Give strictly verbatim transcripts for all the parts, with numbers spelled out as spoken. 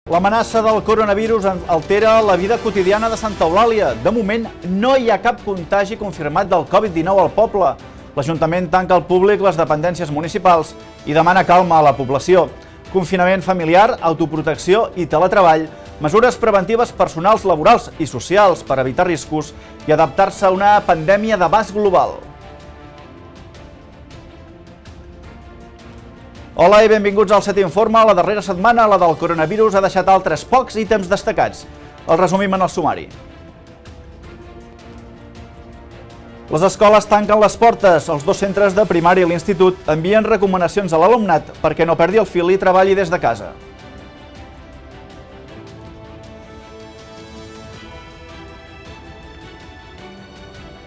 L'amenaça del coronavirus altera la vida quotidiana de Santa Eulàlia. De moment, no hi ha cap contagi confirmat del Covid dinou al poble. L'Ajuntament tanca al públic les dependències municipals i demana calma a la població. Confinament familiar, autoprotecció i teletreball, mesures preventives personals, laborals i socials per evitar riscos i adaptar-se a una pandèmia d'abast global. Hola i benvinguts al Set Informa. La darrera setmana, la del coronavirus, ha deixat altres pocs ítems destacats. El resumim en el sumari. Les escoles tanquen les portes. Els dos centres de primària i l'institut envien recomanacions a l'alumnat perquè no perdi el fil i treballi des de casa.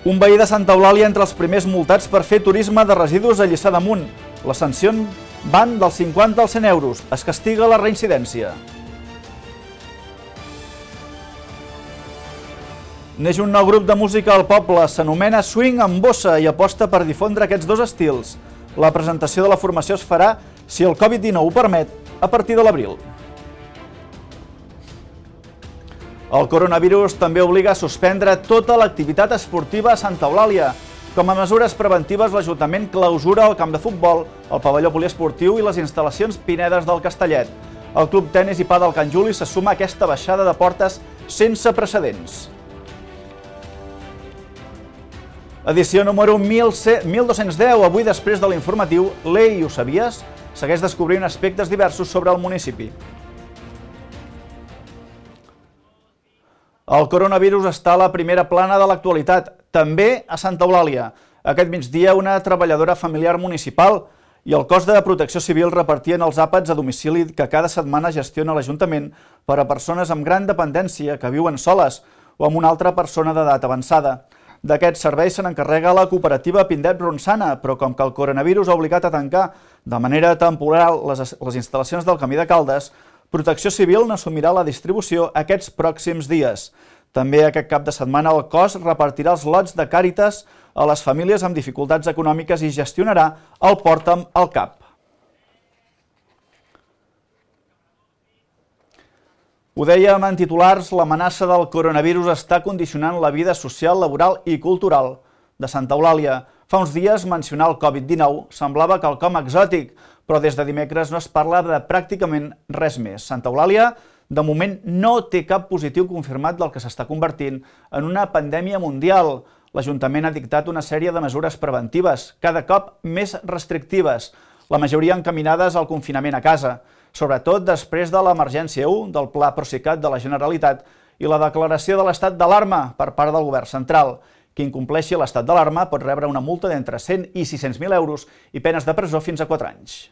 Un veí de Santa Eulàlia entre els primers multats per fer turisme de residus a Lliçà d'Amunt. Les sancions van dels cinquanta als cent euros. Es castiga la reincidència. Neix un nou grup de música al poble. S'anomena Swing amb Bossa i aposta per difondre aquests dos estils. La presentació de la formació es farà, si el Covid dinou ho permet, a partir de l'abril. El coronavirus també obliga a suspendre tota l'activitat esportiva a Santa Eulàlia. Com a mesures preventives, l'Ajuntament clausura el camp de futbol, el pavelló poliesportiu i les instal·lacions Pinedes del Castellet. El Club Tenis i Pàdel Can Juli se suma a aquesta baixada de portes sense precedents. Edició número mil dos-cents deu. Avui, després de l'informatiu, l'Ei, ho sabies? Segueix descobrint aspectes diversos sobre el municipi. El coronavirus està a la primera plana de l'actualitat, també a Santa Eulàlia. Aquest migdia, una treballadora familiar municipal i el cos de protecció civil repartien els àpats a domicili que cada setmana gestiona l'Ajuntament per a persones amb gran dependència que viuen soles o amb una altra persona d'edat avançada. D'aquests serveis se n'encarrega la cooperativa Pindep Ronçana, però com que el coronavirus ha obligat a tancar de manera temporal les, les instal·lacions del Camí de Caldes, Protecció Civil n'assumirà la distribució aquests pròxims dies. També aquest cap de setmana el cos repartirà els lots de Càritas a les famílies amb dificultats econòmiques i gestionarà el Porta'm al Cap. Ho dèiem en titulars, l'amenaça del coronavirus està condicionant la vida social, laboral i cultural de Santa Eulàlia. Fa uns dies mencionar el Covid dinou semblava quelcom exòtic, però des de dimecres no es parla de pràcticament res més. Santa Eulàlia, de moment, no té cap positiu confirmat del que s'està convertint en una pandèmia mundial. L'Ajuntament ha dictat una sèrie de mesures preventives, cada cop més restrictives, la majoria encaminades al confinament a casa, sobretot després de l'emergència u del Pla Procicat de la Generalitat i la declaració de l'estat d'alarma per part del govern central. Qui incompleixi l'estat d'alarma pot rebre una multa d'entre cent i sis-cents mil euros i penes de presó fins a quatre anys.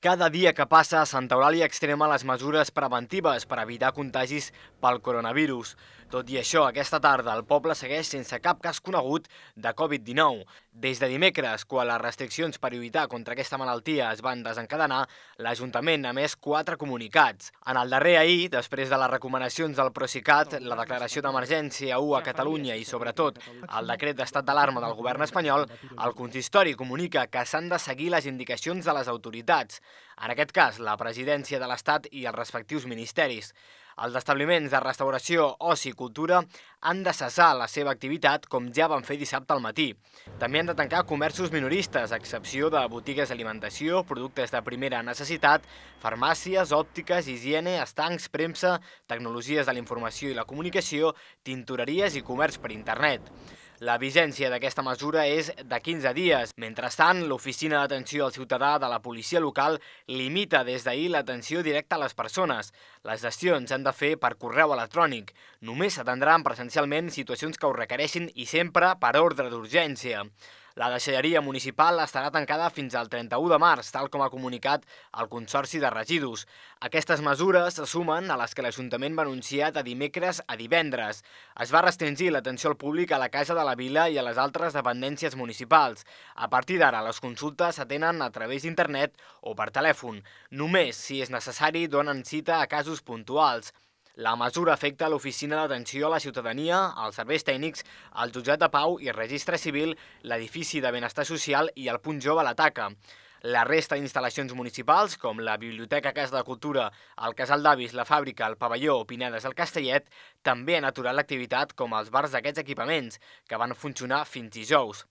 Cada dia que passa, Santa Eulàlia extrema les mesures preventives per evitar contagis pel coronavirus. Tot i això, aquesta tarda el poble segueix sense cap cas conegut de Covid dinou. Des de dimecres, quan les restriccions per lluitar contra aquesta malaltia es van desencadenar, l'Ajuntament ha emès quatre comunicats. En el darrer ahir, després de les recomanacions del Procicat, la declaració d'emergència u a Catalunya i, sobretot, el decret d'estat d'alarma del govern espanyol, el consistori comunica que s'han de seguir les indicacions de les autoritats, en aquest cas la presidència de l'Estat i els respectius ministeris. Els establiments de restauració, oci i cultura han de cessar la seva activitat com ja van fer dissabte al matí. També han de tancar comerços minoristes, a excepció de botigues d'alimentació, productes de primera necessitat, farmàcies, òptiques, higiene, estancs, premsa, tecnologies de la informació i la comunicació, tintoreries i comerç per internet. La vigència d'aquesta mesura és de quinze dies. Mentrestant, l'Oficina d'Atenció al Ciutadà de la Policia Local limita des d'ahir l'atenció directa a les persones. Les gestions s'han de fer per correu electrònic. Només s'atendran presencialment situacions que ho requereixin i sempre per ordre d'urgència. La deixalleria municipal estarà tancada fins al trenta-u de març, tal com ha comunicat el Consorci de Residus. Aquestes mesures se sumen a les que l'Ajuntament va anunciar de dimecres a divendres. Es va restringir l'atenció al públic a la Casa de la Vila i a les altres dependències municipals. A partir d'ara, les consultes s'atenen a través d'internet o per telèfon. Només, si és necessari, donen cita a casos puntuals. La mesura afecta l'Oficina d'Atenció a la Ciutadania, els serveis tècnics, el Jutjat de Pau i Registre Civil, l'edifici de Benestar Social i el Punt Jove a l'Ataca. La resta d'instal·lacions municipals, com la Biblioteca Casa de Cultura, el Casal d'Avis, la Fàbrica, el Pavelló o Pinedes al Castellet, també han aturat l'activitat com els bars d'aquests equipaments, que van funcionar fins dijous.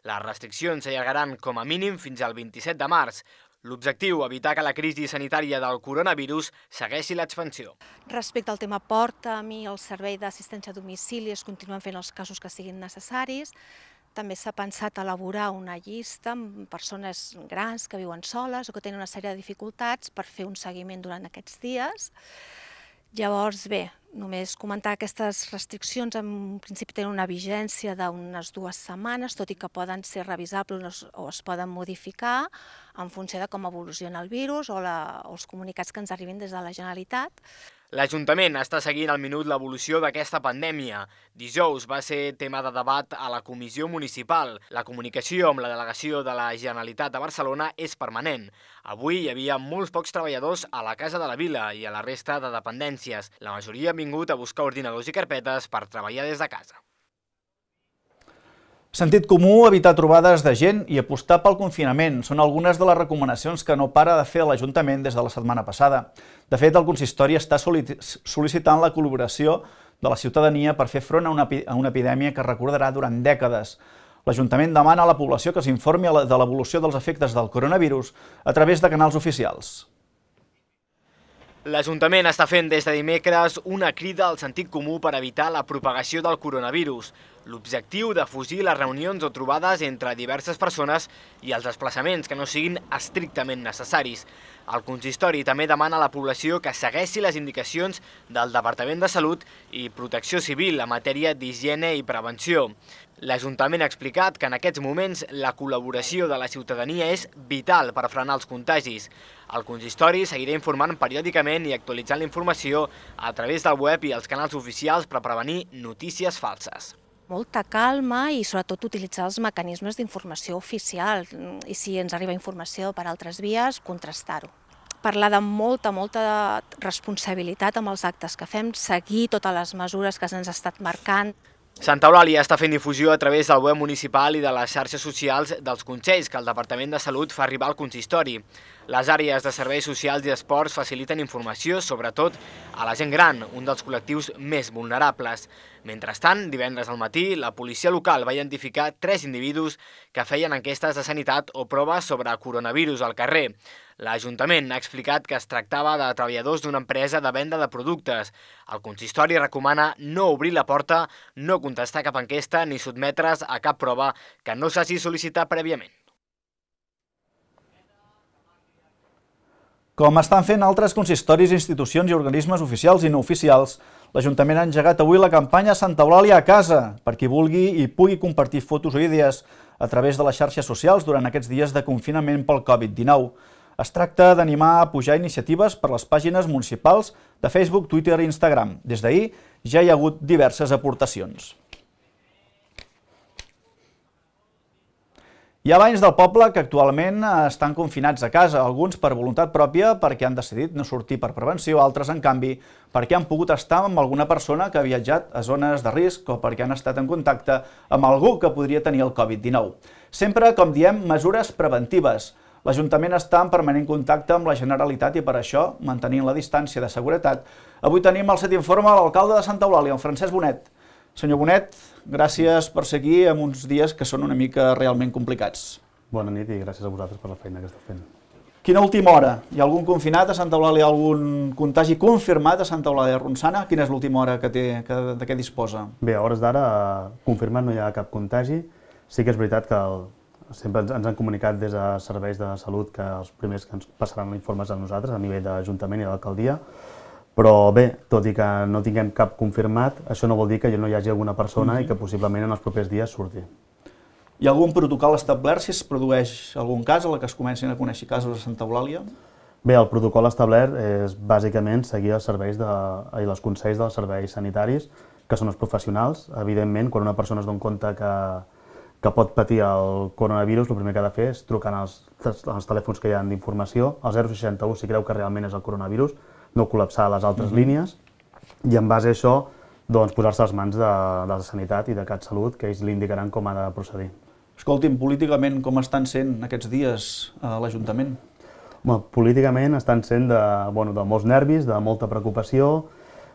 Les restriccions s'allargaran com a mínim fins al vint-i-set de març. L'objectiu, evitar que la crisi sanitària del coronavirus segueixi l'expansió. Respecte al tema porta, a mi el servei d'assistència a domicili es continuen fent els casos que siguin necessaris. També s'ha pensat elaborar una llista amb persones grans que viuen soles o que tenen una sèrie de dificultats per fer un seguiment durant aquests dies. Llavors, bé, només comentar que aquestes restriccions en principi tenen una vigència d'unes dues setmanes, tot i que poden ser revisables o es poden modificar en funció de com evoluciona el virus o, la, o els comunicats que ens arribin des de la Generalitat. L'Ajuntament està seguint al minut l'evolució d'aquesta pandèmia. Dijous va ser tema de debat a la Comissió Municipal. La comunicació amb la delegació de la Generalitat de Barcelona és permanent. Avui hi havia molts pocs treballadors a la Casa de la Vila i a la resta de dependències. La majoria han vingut a buscar ordinadors i carpetes per treballar des de casa. Sentit comú, evitar trobades de gent i apostar pel confinament són algunes de les recomanacions que no para de fer l'Ajuntament des de la setmana passada. De fet, el consistori està sol·licitant la col·laboració de la ciutadania per fer front a una, a una epidèmia que recordarà durant dècades. L'Ajuntament demana a la població que s'informi de l'evolució dels efectes del coronavirus a través de canals oficials. L'Ajuntament està fent des de dimecres una crida al sentit comú per evitar la propagació del coronavirus. L'objectiu de fugir les reunions o trobades entre diverses persones i els desplaçaments que no siguin estrictament necessaris. El consistori també demana a la població que segueixi les indicacions del Departament de Salut i Protecció Civil en matèria d'higiene i prevenció. L'Ajuntament ha explicat que en aquests moments la col·laboració de la ciutadania és vital per frenar els contagis. El consistori seguirà informant periòdicament i actualitzant la informació a través del web i els canals oficials per prevenir notícies falses. Molta calma i sobretot utilitzar els mecanismes d'informació oficial i si ens arriba informació per altres vies, contrastar-ho. Parlar de molta, molta responsabilitat amb els actes que fem, seguir totes les mesures que se'ns ha estat marcant. Santa Eulàlia està fent difusió a través del web municipal i de les xarxes socials dels consells que el Departament de Salut fa arribar al consistori. Les àrees de serveis socials i esports faciliten informació, sobretot a la gent gran, un dels col·lectius més vulnerables. Mentrestant, divendres al matí, la policia local va identificar tres individus que feien enquestes de sanitat o proves sobre coronavirus al carrer. L'Ajuntament ha explicat que es tractava de treballadors d'una empresa de venda de productes. El consistori recomana no obrir la porta, no contestar cap enquesta ni sotmetre's a cap prova que no s'hagi sol·licitat prèviament. Com estan fent altres consistoris, institucions i organismes oficials i no oficials, l'Ajuntament ha engegat avui la campanya Santa Eulàlia a casa, per qui vulgui i pugui compartir fotos o idees a través de les xarxes socials durant aquests dies de confinament pel Covid dinou. Es tracta d'animar a pujar iniciatives per les pàgines municipals de Facebook, Twitter i Instagram. Des d'ahir ja hi ha hagut diverses aportacions. Hi ha veïns del poble que actualment estan confinats a casa, alguns per voluntat pròpia perquè han decidit no sortir per prevenció, altres, en canvi, perquè han pogut estar amb alguna persona que ha viatjat a zones de risc o perquè han estat en contacte amb algú que podria tenir el Covid dinou. Sempre, com diem, mesures preventives. L'Ajuntament està en permanent contacte amb la Generalitat i per això, mantenint la distància de seguretat, avui tenim al Set Informe l'alcalde de Santa Eulàlia, el Francesc Bonet. Senyor Bonet, gràcies per seguir en uns dies que són una mica realment complicats. Bona nit i gràcies a vosaltres per la feina que esteu fent. Quina última hora? Hi ha algun confinat a Santa Eulàlia, algun contagi confirmat a Santa Eulàlia de Ronçana? Quina és l'última hora que té, que, de què disposa? Bé, a hores d'ara, confirmat no hi ha cap contagi. Sí que és veritat que el, sempre ens han comunicat des de serveis de salut que els primers que ens passaran informes a nosaltres, a nivell d'Ajuntament i d'Alcaldia. Però bé, tot i que no tinguem cap confirmat, això no vol dir que no hi hagi alguna persona i que possiblement en els propers dies surti. Hi ha algun protocol establert si es produeix algun cas a la que es comencin a conèixer casos a Santa Eulàlia? Bé, el protocol establert és bàsicament seguir els serveis de, i els consells dels serveis sanitaris, que són els professionals. Evidentment, quan una persona es dona compte que, que pot patir el coronavirus, el primer que ha de fer és trucar als, als telèfons que hi ha d'informació, al zero seixanta u si creu que realment és el coronavirus, no col·lapsar les altres mm-hmm. línies, i en base a això doncs, posar-se a les mans de, de la Sanitat i de CatSalut, que ells li indicaran com ha de procedir. Escolti'm, políticament com estan sent aquests dies a l'Ajuntament? Políticament estan sent de, bueno, de molts nervis, de molta preocupació,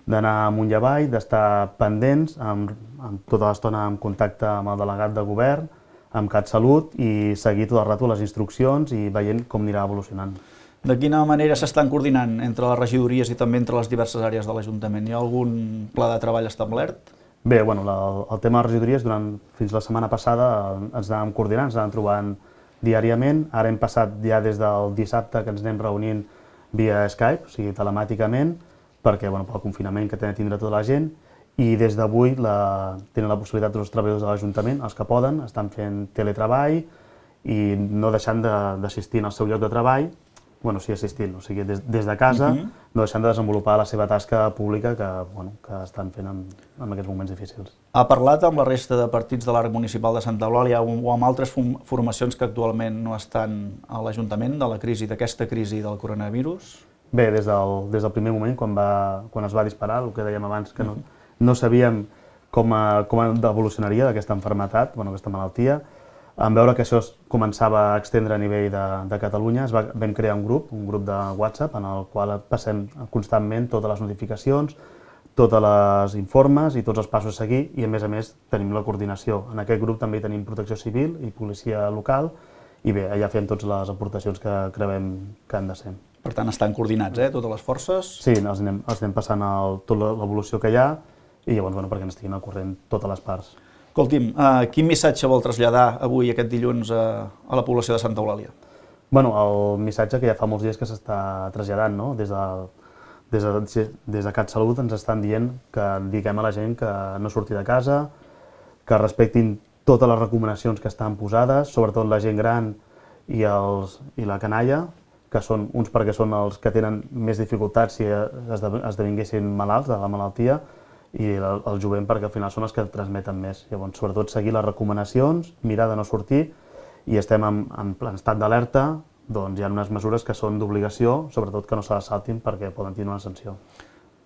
d'anar amunt i avall, d'estar pendents, amb, amb tota l'estona en contacte amb el delegat de govern, amb CatSalut, i seguir tot el rato les instruccions i veient com anirà evolucionant. De quina manera s'estan coordinant entre les regidories i també entre les diverses àrees de l'Ajuntament? Hi ha algun pla de treball establert? Bé, bueno, la, el tema de les regidories, durant, fins la setmana passada ens anàvem coordinant, ens anàvem trobant diàriament. Ara hem passat ja des del dissabte que ens anem reunint via Skype, o sigui, telemàticament, perquè, bueno, pel confinament que tindrà tota la gent, i des d'avui la, tenen la possibilitat els treballadors de l'Ajuntament, els que poden, estan fent teletreball i no deixant d'assistir al seu lloc de treball, bueno, sí, assistint, o sigui, des, des de casa, uh-huh. no deixant de desenvolupar la seva tasca pública que, bueno, que estan fent en, en aquests moments difícils. Ha parlat amb la resta de partits de l'arc municipal de Santa Eulàlia o amb altres formacions que actualment no estan a l'Ajuntament de la crisi, d'aquesta crisi del coronavirus? Bé, des del, des del primer moment, quan, va, quan es va disparar, el que dèiem abans, que no, no sabíem com, a, com evolucionaria d'aquesta malaltia, bueno, aquesta malaltia. En veure que això es començava a extendre a nivell de, de Catalunya, es va, vam crear un grup, un grup de WhatsApp, en el qual passem constantment totes les notificacions, tots els informes i tots els passos a seguir, i a més a més tenim la coordinació. En aquest grup també tenim protecció civil i policia local, i bé, allà fem totes les aportacions que creiem que han de ser. Per tant, estan coordinats, eh, totes les forces? Sí, els anem, els anem passant el, tota l'evolució que hi ha, i llavors, bueno, perquè n'estiguin al corrent totes les parts. Escolti'm, uh, quin missatge vol traslladar avui, aquest dilluns, a, a la població de Santa Eulàlia? Bueno, el missatge que ja fa molts dies que s'està traslladant, no? Des de, des de, des de CatSalut ens estan dient que diguem a la gent que no surti de casa, que respectin totes les recomanacions que estan posades, sobretot la gent gran i, els, i la canalla, que són uns perquè són els que tenen més dificultats si esdevinguessin malalts de la malaltia, i el, el jovent perquè al final són els que transmeten més. Llavors, sobretot seguir les recomanacions, mirar de no sortir, i estem en, en estat d'alerta, doncs hi ha unes mesures que són d'obligació, sobretot que no se les saltin perquè poden tenir una sanció.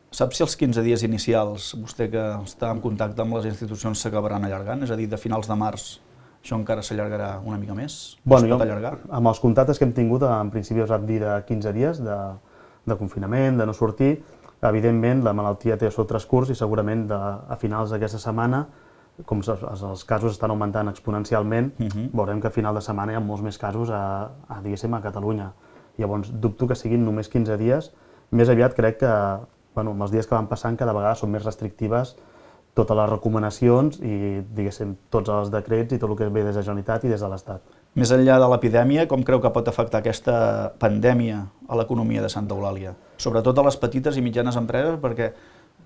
Sap si els quinze dies inicials, vostè que està en contacte amb les institucions, s'acabaran allargant? És a dir, de finals de març això encara s'allargarà una mica més? Bueno, es pot allargar? Amb els contactes que hem tingut, en principi us han dit de quinze dies de, de confinament, de no sortir. Evidentment, la malaltia té el seu transcurs i segurament de, a finals d'aquesta setmana, com els, els casos estan augmentant exponencialment, uh-huh. veurem que a final de setmana hi ha molts més casos a, a, diguéssim, a Catalunya. Llavors, dubto que siguin només quinze dies. Més aviat crec que, bueno, amb els dies que van passant, cada vegada són més restrictives totes les recomanacions i, diguéssim, tots els decrets i tot el que ve des de la Generalitat i des de l'Estat. Més enllà de l'epidèmia, com creu que pot afectar aquesta pandèmia a l'economia de Santa Eulàlia? Sobretot a les petites i mitjanes empreses, perquè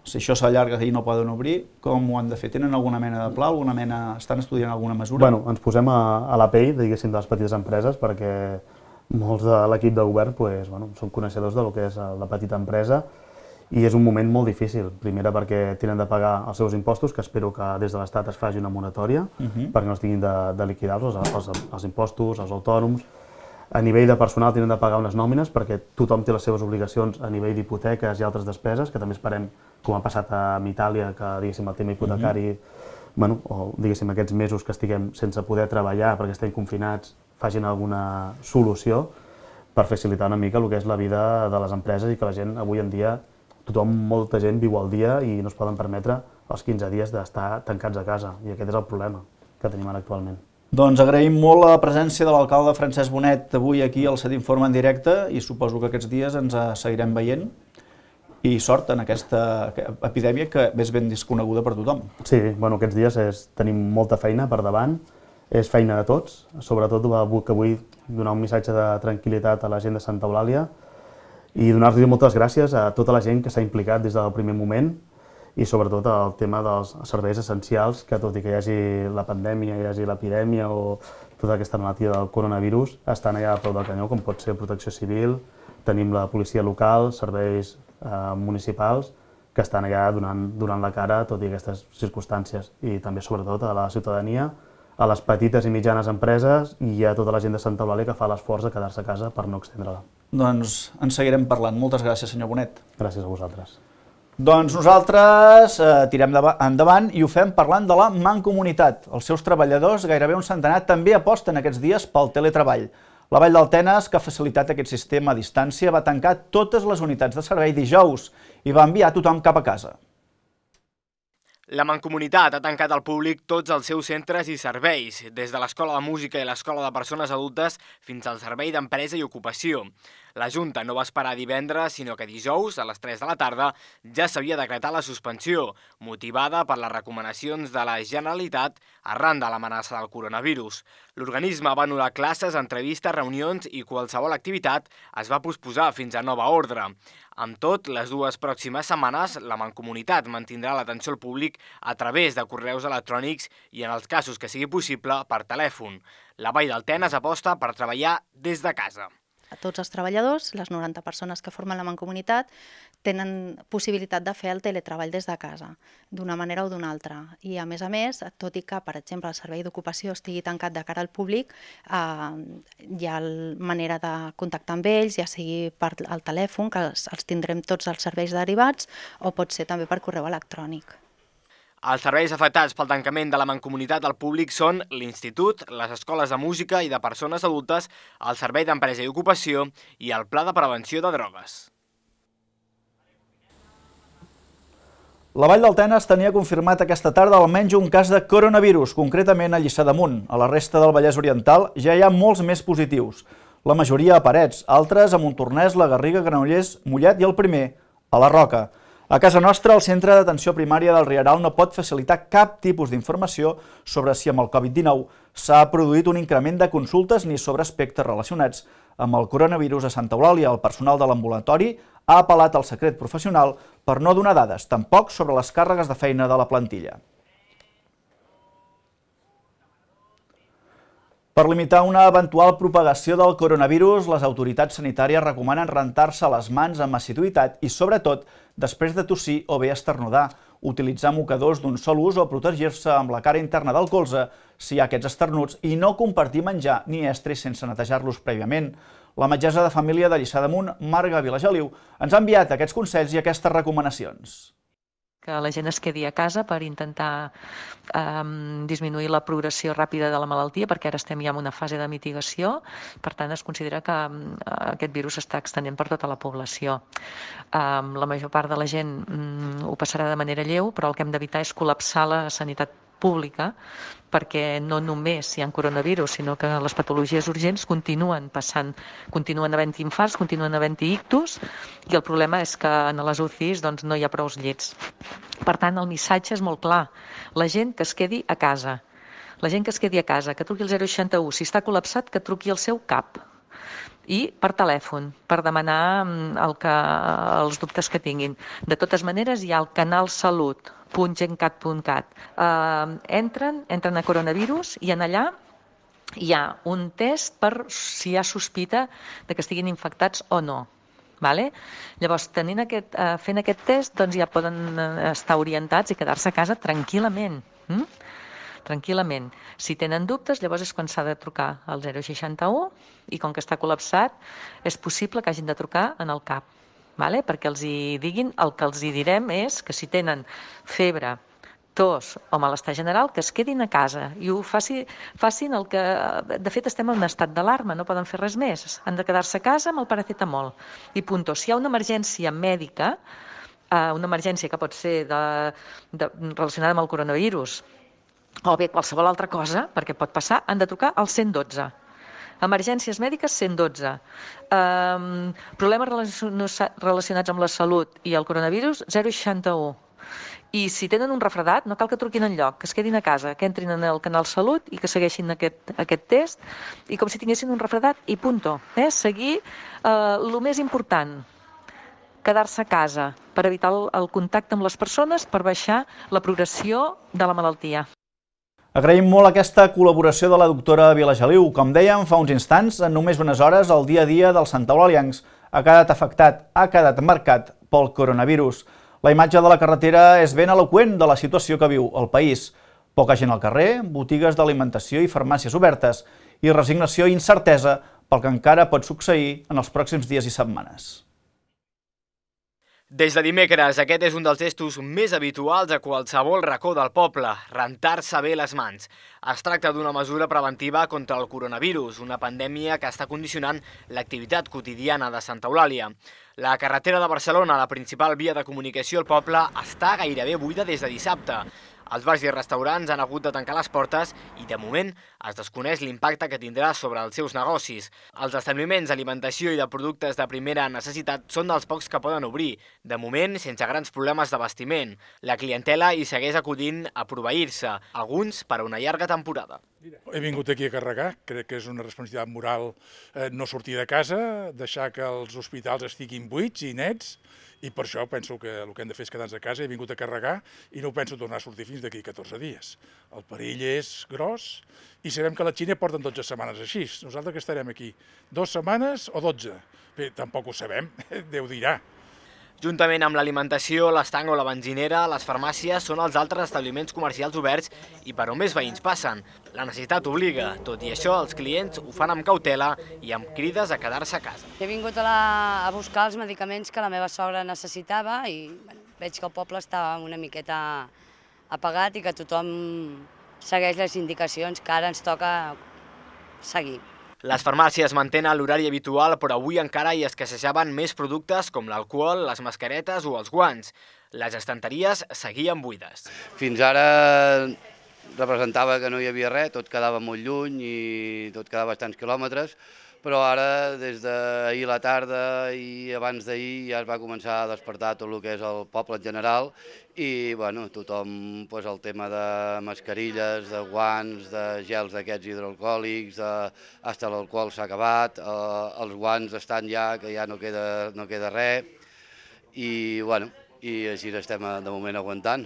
si això s'allarga i no poden obrir, com ho han de fer? Tenen alguna mena de pla, alguna mena, estan estudiant alguna mesura? Bueno, ens posem a, a la pell, diguéssim, de les petites empreses, perquè molts de l'equip de govern pues, bueno, són coneixedors del que és la petita empresa, i és un moment molt difícil. Primera perquè tenen de pagar els seus impostos, que espero que des de l'Estat es faci una moratòria, uh-huh. perquè no es tinguin de, de liquidar-los, els, els impostos, els autònoms. A nivell de personal tenen de pagar unes nòmines, perquè tothom té les seves obligacions a nivell d'hipoteques i altres despeses, que també esperem, com ha passat a Itàlia, que diguéssim el tema hipotecari, uh-huh. bueno, o diguéssim aquests mesos que estiguem sense poder treballar perquè estem confinats, facin alguna solució per facilitar una mica el que és la vida de les empreses i que la gent avui en dia tothom, molta gent viu al dia i no es poden permetre els quinze dies d'estar tancats a casa, i aquest és el problema que tenim ara actualment. Doncs agraïm molt la presència de l'alcalde Francesc Bonet avui aquí al Set Informa en directe, i suposo que aquests dies ens seguirem veient, i sort en aquesta epidèmia que és ben desconeguda per tothom. Sí, bueno, aquests dies és, tenim molta feina per davant, és feina de tots, sobretot que vull donar un missatge de tranquil·litat a la gent de Santa Eulàlia, i donar-los moltes gràcies a tota la gent que s'ha implicat des del primer moment, i sobretot el tema dels serveis essencials, que tot i que hi hagi la pandèmia, hi hagi l'epidèmia o tota aquesta malaltia del coronavirus, estan allà a peu del canyó, com pot ser Protecció Civil, tenim la policia local, serveis eh, municipals, que estan allà donant, donant la cara tot i aquestes circumstàncies, i també sobretot a la ciutadania, a les petites i mitjanes empreses i a tota la gent de Santa Eulàlia que fa l'esforç de quedar-se a casa per no extendre-la. Doncs en seguirem parlant. Moltes gràcies, senyor Bonet. Gràcies a vosaltres. Doncs nosaltres eh, tirem endavant i ho fem parlant de la Mancomunitat. Els seus treballadors, gairebé un centenar, també aposten aquests dies pel teletreball. La Vall del Tenes, que ha facilitat aquest sistema a distància, va tancar totes les unitats de servei dijous i va enviar tothom cap a casa. La Mancomunitat ha tancat al públic tots els seus centres i serveis, des de l'Escola de Música i l'Escola de Persones Adultes fins al Servei d'Empresa i Ocupació. La Junta no va esperar divendres, sinó que dijous, a les tres de la tarda, ja s'havia decretat la suspensió, motivada per les recomanacions de la Generalitat arran de l'amenaça del coronavirus. L'organisme va anul·lar classes, entrevistes, reunions i qualsevol activitat es va posposar fins a nova ordre. Amb tot, les dues pròximes setmanes, la Mancomunitat mantindrà l'atenció al públic a través de correus electrònics i, en els casos que sigui possible, per telèfon. La Vall del Tenes aposta per treballar des de casa. A tots els treballadors, les noranta persones que formen la Mancomunitat, tenen possibilitat de fer el teletreball des de casa, d'una manera o d'una altra. I a més a més, tot i que, per exemple, el servei d'ocupació estigui tancat de cara al públic, eh, hi ha manera de contactar amb ells, ja sigui per al telèfon, que els, els tindrem tots els serveis derivats, o pot ser també per correu electrònic. Els serveis afectats pel tancament de la Mancomunitat al públic són l'Institut, les escoles de música i de persones adultes, el Servei d'Empresa i Ocupació i el Pla de Prevenció de Drogues. La Vall del Tenes tenia confirmat aquesta tarda almenys un cas de coronavirus, concretament a Lliçà d'Amunt. A la resta del Vallès Oriental ja hi ha molts més positius. La majoria a Parets, altres a Montornès, la Garriga, Granollers, Mollet i el primer, a la Roca. A casa nostra, el Centre d'Atenció Primària del Rieral no pot facilitar cap tipus d'informació sobre si amb el Covid dinou s'ha produït un increment de consultes ni sobre aspectes relacionats amb el coronavirus a Santa Eulàlia. El personal de l'ambulatori ha apel·lat al secret professional per no donar dades, tampoc sobre les càrregues de feina de la plantilla. Per limitar una eventual propagació del coronavirus, les autoritats sanitàries recomanen rentar-se les mans amb assiduïtat i, sobretot, després de tossir o bé esternudar, utilitzar mocadors d'un sol ús o protegir-se amb la cara interna del colze si hi ha aquests esternuts i no compartir menjar ni estris sense netejar-los prèviament. La metgessa de família de Lliçà d'Amunt, Marga Vilageliu, ens ha enviat aquests consells i aquestes recomanacions. Que la gent es quedi a casa per intentar eh, disminuir la progressió ràpida de la malaltia, perquè ara estem ja en una fase de mitigació, per tant es considera que eh, aquest virus s'està extenent per tota la població. Eh, la major part de la gent mm, ho passarà de manera lleu, però el que hem d'evitar és col·lapsar la sanitat pública, perquè no només hi ha coronavirus, sinó que les patologies urgents continuen passant, continuen havent-hi infarts, continuen havent-hi ictus, i el problema és que en les U C Is doncs, no hi ha prous llits. Per tant, el missatge és molt clar. La gent que es quedi a casa, la gent que es quedi a casa, que truqui al zero seixanta u, si està col·lapsat, que truqui al seu cap. I per telèfon, per demanar el que, els dubtes que tinguin. De totes maneres, hi ha el canal salut punt gencat punt cat. Eh, entren, entren a coronavirus i en allà hi ha un test per si hi ha sospita de que estiguin infectats o no. Vale? Llavors, tenint aquest, eh, fent aquest test, doncs ja poden estar orientats i quedar-se a casa tranquil·lament. Mm? tranquil·lament. Si tenen dubtes, llavors és quan s'ha de trucar al zero seixanta u i com que està col·lapsat, és possible que hagin de trucar en el CAP, vale? Perquè els hi diguin, el que els hi direm és que si tenen febre, tos o malestar general, que es quedin a casa i ho faci, facin el que... De fet, estem en un estat d'alarma, no poden fer res més. Han de quedar-se a casa amb el paracetamol. I punto. Si hi ha una emergència mèdica, una emergència que pot ser de, de, relacionada amb el coronavirus, o bé qualsevol altra cosa, perquè pot passar, han de trucar al cent dotze. Emergències mèdiques, cent dotze. Um, problemes relacionats amb la salut i el coronavirus, zero seixanta u. I si tenen un refredat, no cal que truquin enlloc, que es quedin a casa, que entrin en el canal Salut i que segueixin aquest, aquest test, i com si tinguessin un refredat, i punto. Eh? Seguir eh, el més important, quedar-se a casa, per evitar el, el contacte amb les persones, per baixar la progressió de la malaltia. Agraïm molt aquesta col·laboració de la doctora Vilageliu. Com dèiem fa uns instants, en només unes hores, el dia a dia dels santaeulàliens ha quedat afectat, ha quedat marcat pel coronavirus. La imatge de la carretera és ben eloqüent de la situació que viu el país. Poca gent al carrer, botigues d'alimentació i farmàcies obertes, i resignació i incertesa pel que encara pot succeir en els pròxims dies i setmanes. Des de dimecres, aquest és un dels gestos més habituals a qualsevol racó del poble, rentar-se bé les mans. Es tracta d'una mesura preventiva contra el coronavirus, una pandèmia que està condicionant l'activitat quotidiana de Santa Eulàlia. La carretera de Barcelona, la principal via de comunicació al poble, està gairebé buida des de dissabte. Els bars i restaurants han hagut de tancar les portes i, de moment, es desconeix l'impacte que tindrà sobre els seus negocis. Els establiments d'alimentació i de productes de primera necessitat són dels pocs que poden obrir, de moment sense grans problemes d'abastiment. La clientela hi segueix acudint a proveir-se, alguns per a una llarga temporada. He vingut aquí a carregar, crec que és una responsabilitat moral eh, no sortir de casa, deixar que els hospitals estiguin buits i nets, i per això penso que el que hem de fer és quedar-nos a casa. He vingut a carregar i no penso tornar a sortir fins d'aquí catorze dies. El perill és gros i sabem que la Xina porten dotze setmanes així. Nosaltres que estarem aquí dues setmanes o dotze? Bé, tampoc ho sabem, Déu dirà. Juntament amb l'alimentació, l'estanc o la benzinera, les farmàcies són els altres establiments comercials oberts i per on més veïns passen. La necessitat obliga, tot i això els clients ho fan amb cautela i amb crides a quedar-se a casa. He vingut a, la, a buscar els medicaments que la meva sogra necessitava i bueno, veig que el poble està una miqueta apagat i que tothom segueix les indicacions que ara ens toca seguir. Les farmàcies mantenen l'horari habitual, però avui encara hi escassejaven més productes com l'alcohol, les mascaretes o els guants. Les estanteries seguien buides. Fins ara representava que no hi havia res, tot quedava molt lluny i tot quedava bastants quilòmetres, però ara, des d'ahir a la tarda i abans d'ahir, ja es va començar a despertar tot el que és el poble en general i bueno, tothom, doncs, el tema de mascarilles, de guants, de gels d'aquests hidroalcohòlics, fins l'alcohol s'ha acabat, eh, els guants estan ja, que ja no queda, no queda res i, bueno, i així estem de moment aguantant.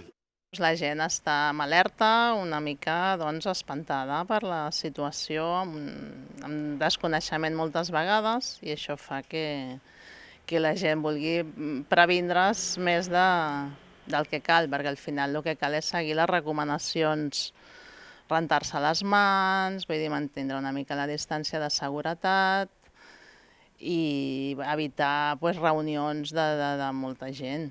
La gent està amb alerta, una mica doncs, espantada per la situació, amb, amb desconeixement moltes vegades, i això fa que, que la gent vulgui previndre's més de, del que cal, perquè al final el que cal és seguir les recomanacions, rentar-se les mans, vull dir, mantenir una mica la distància de seguretat i evitar pues, reunions de, de, de molta gent.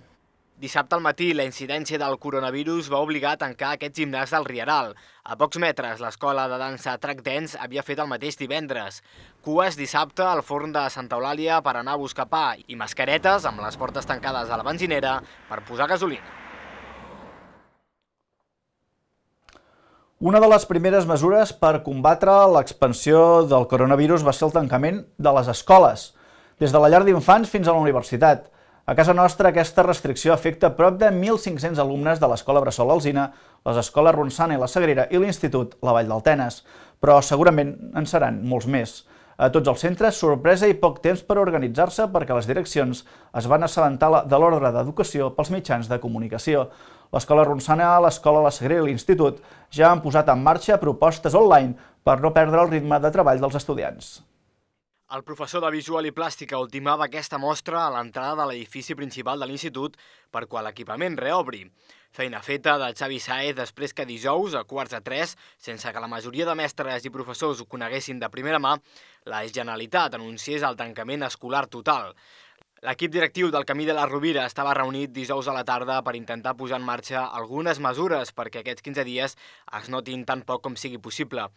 Dissabte al matí, la incidència del coronavirus va obligar a tancar aquest gimnàs del Rieral. A pocs metres, l'escola de dansa Track Dance havia fet el mateix divendres. Cues dissabte al forn de Santa Eulàlia per anar a buscar pa i mascaretes amb les portes tancades a la benzinera per posar gasolina. Una de les primeres mesures per combatre l'expansió del coronavirus va ser el tancament de les escoles, des de la llar d'infants fins a la universitat. A casa nostra, aquesta restricció afecta prop de mil cinc-cents alumnes de l'Escola Bressol Alzina, les escoles Ronçana i la Sagrera i l'Institut La Vall del Tenes, però segurament en seran molts més. A tots els centres, sorpresa i poc temps per organitzar-se perquè les direccions es van assabentar de l'ordre d'educació pels mitjans de comunicació. L'Escola Ronçana, l'Escola La Sagrera i l'Institut ja han posat en marxa propostes online per no perdre el ritme de treball dels estudiants. El professor de Visual i Plàstica ultimava aquesta mostra a l'entrada de l'edifici principal de l'institut per quan l'equipament reobri. Feina feta de Xavi Saez després que dijous, a quarts de tres, sense que la majoria de mestres i professors ho coneguessin de primera mà, la Generalitat anunciés el tancament escolar total. L'equip directiu del Camí de la Rovira estava reunit dijous a la tarda per intentar posar en marxa algunes mesures perquè aquests quinze dies es notin tan poc com sigui possible.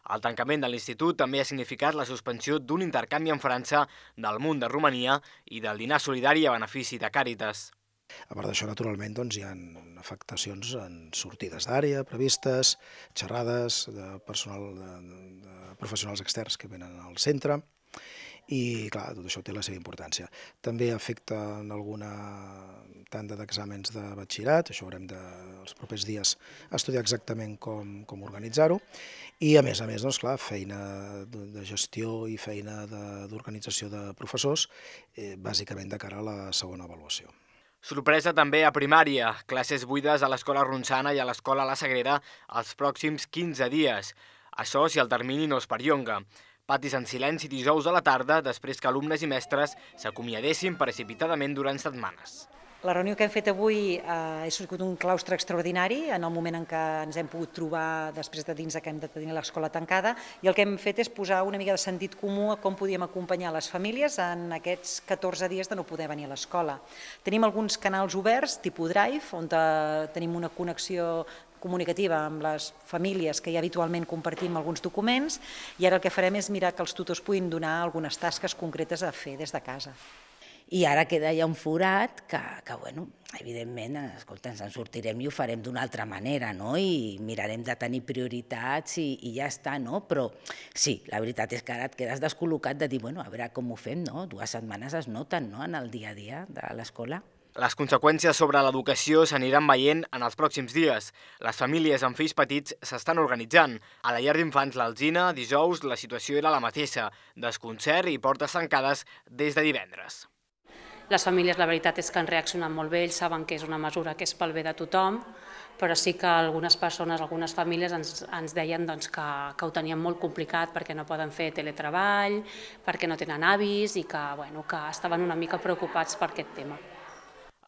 El tancament de l'institut també ha significat la suspensió d'un intercanvi amb França, del Munt de Romania i del dinar solidari a benefici de Càritas. A part d'això, naturalment, doncs, hi ha afectacions en sortides d'àrea previstes, xerrades de, personal, de, de professionals externs que venen al centre, i clar, tot això té la seva importància. També afecta en alguna tanda d'exàmens de batxillerat, això haurem de, els propers dies, estudiar exactament com, com organitzar-ho, i a més a més, doncs, clar, feina de gestió i feina d'organització de, de professors, eh, bàsicament de cara a la segona avaluació. Sorpresa també a primària, classes buides a l'Escola Ronçana i a l'Escola La Sagrera els pròxims quinze dies. Això si el termini no es perllonga. Patis en silenci dijous a la tarda després que alumnes i mestres s'acomiadessin precipitadament durant setmanes. La reunió que hem fet avui ha sigut un claustre extraordinari en el moment en què ens hem pogut trobar després de dins que hem de tenir l'escola tancada, i el que hem fet és posar una mica de sentit comú a com podíem acompanyar les famílies en aquests catorze dies de no poder venir a l'escola. Tenim alguns canals oberts, tipus Drive, on tenim una connexió comunicativa amb les famílies que ja habitualment compartim alguns documents, i ara el que farem és mirar que els tutors puguin donar algunes tasques concretes a fer des de casa. I ara queda ja un forat que, que bueno, evidentment, escolta, ens en sortirem i ho farem d'una altra manera, no? I mirarem de tenir prioritats i, i ja està, no? Però sí, la veritat és que ara et quedes descol·locat de dir, bueno, a veure com ho fem, no? Dues setmanes es noten, no?, en el dia a dia de l'escola. Les conseqüències sobre l'educació s'aniran veient en els pròxims dies. Les famílies amb fills petits s'estan organitzant. A la llar d'infants l'Alzina, dijous, la situació era la mateixa, desconcert i portes tancades des de divendres. Les famílies, la veritat és que han reaccionat molt bé, ells saben que és una mesura que és pel bé de tothom, però sí que algunes persones, algunes famílies ens, ens deien doncs, que, que ho tenien molt complicat perquè no poden fer teletreball, perquè no tenen avis i que, bueno, que estaven una mica preocupats per aquest tema.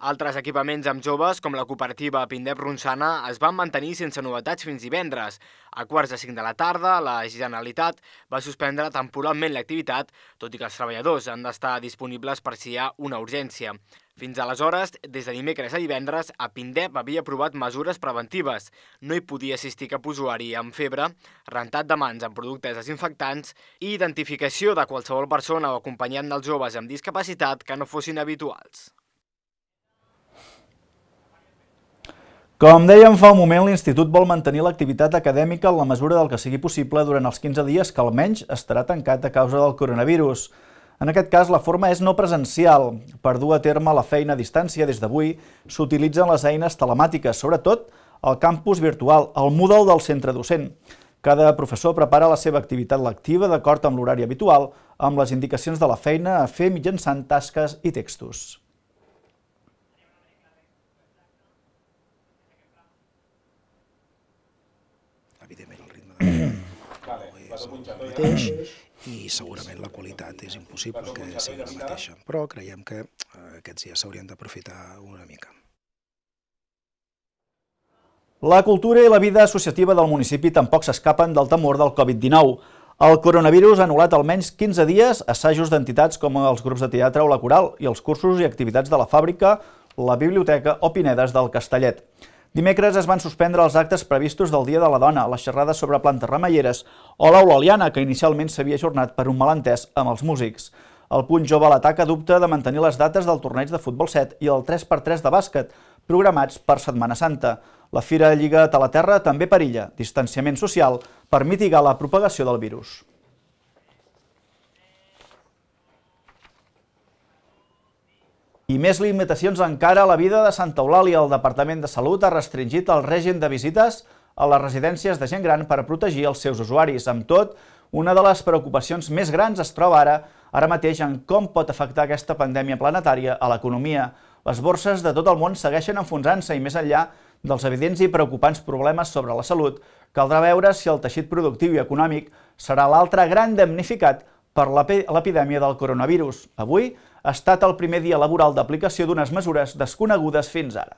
Altres equipaments amb joves, com la cooperativa Pindep-Ronçana, es van mantenir sense novetats fins divendres. A quarts de cinc de la tarda, la Generalitat va suspendre temporalment l'activitat, tot i que els treballadors han d'estar disponibles per si hi ha una urgència. Fins aleshores, des de dimecres a divendres, a Pindep havia aprovat mesures preventives. No hi podia assistir cap usuari amb febre, rentat de mans amb productes desinfectants i identificació de qualsevol persona o acompanyant dels joves amb discapacitat que no fossin habituals. Com dèiem fa un moment, l'Institut vol mantenir l'activitat acadèmica en la mesura del que sigui possible durant els quinze dies que almenys estarà tancat a causa del coronavirus. En aquest cas, la forma és no presencial. Per dur a terme la feina a distància des d'avui, s'utilitzen les eines telemàtiques, sobretot el campus virtual, el Moodle del centre docent. Cada professor prepara la seva activitat lectiva d'acord amb l'horari habitual, amb les indicacions de la feina a fer mitjançant tasques i textos. Evidentment, el ritme de és el mateix i segurament la qualitat és impossible que sigui la mateixa, però creiem que aquests dies s'haurien d'aprofitar una mica. La cultura i la vida associativa del municipi tampoc s'escapen del temor del Covid dinou. El coronavirus ha anul·lat almenys quinze dies assajos d'entitats com els grups de teatre o la coral i els cursos i activitats de la fàbrica, la biblioteca o Pinedes del Castellet. Dimecres es van suspendre els actes previstos del Dia de la Dona, les xerrades sobre plantes remeieres o l'Aula Oliana, que inicialment s'havia ajornat per un malentès amb els músics. El Punt Jove a l'Atac adopta de mantenir les dates del torneig de futbol set i el tres per tres de bàsquet, programats per Setmana Santa. La Fira Lliga Talaterra també perilla distanciament social per mitigar la propagació del virus. I més limitacions encara a la vida de Santa Eulàlia. El Departament de Salut ha restringit el règim de visites a les residències de gent gran per protegir els seus usuaris. Amb tot, una de les preocupacions més grans es troba ara, ara mateix en com pot afectar aquesta pandèmia planetària a l'economia. Les borses de tot el món segueixen enfonsant-se i més enllà dels evidents i preocupants problemes sobre la salut, caldrà veure si el teixit productiu i econòmic serà l'altre gran damnificat per l'epidèmia del coronavirus. Avui ha estat el primer dia laboral d'aplicació d'unes mesures desconegudes fins ara.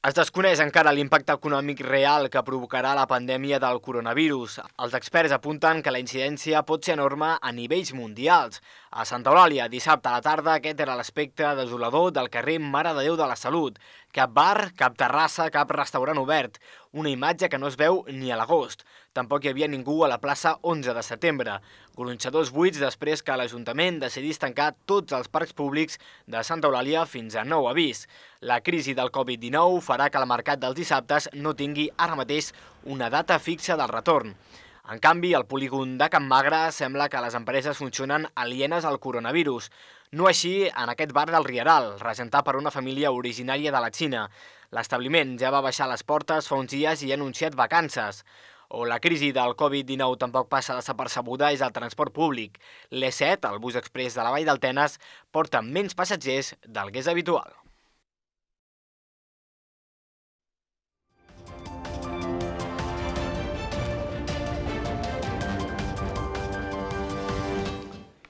Es desconeix encara l'impacte econòmic real que provocarà la pandèmia del coronavirus. Els experts apunten que la incidència pot ser enorme a nivells mundials. A Santa Eulàlia, dissabte a la tarda, aquest era l'aspecte desolador del carrer Mare de Déu de la Salut. Cap bar, cap terrassa, cap restaurant obert. Una imatge que no es veu ni a l'agost. Tampoc hi havia ningú a la plaça onze de setembre. Gronxadors buits després que l'Ajuntament decidís tancar tots els parcs públics de Santa Eulàlia fins a nou avís. La crisi del Covid dinou farà que el mercat dels dissabtes no tingui ara mateix una data fixa del retorn. En canvi, al polígon de Can Magre sembla que les empreses funcionen alienes al coronavirus. No així en aquest bar del Rieral, regentat per una família originària de la Xina. L'establiment ja va baixar les portes fa uns dies i ha anunciat vacances. O la crisi del Covid dinou tampoc passa desapercebuda és el transport públic. l'E set, el bus exprés de la Vall del Tenes, porta menys passatgers del que és habitual.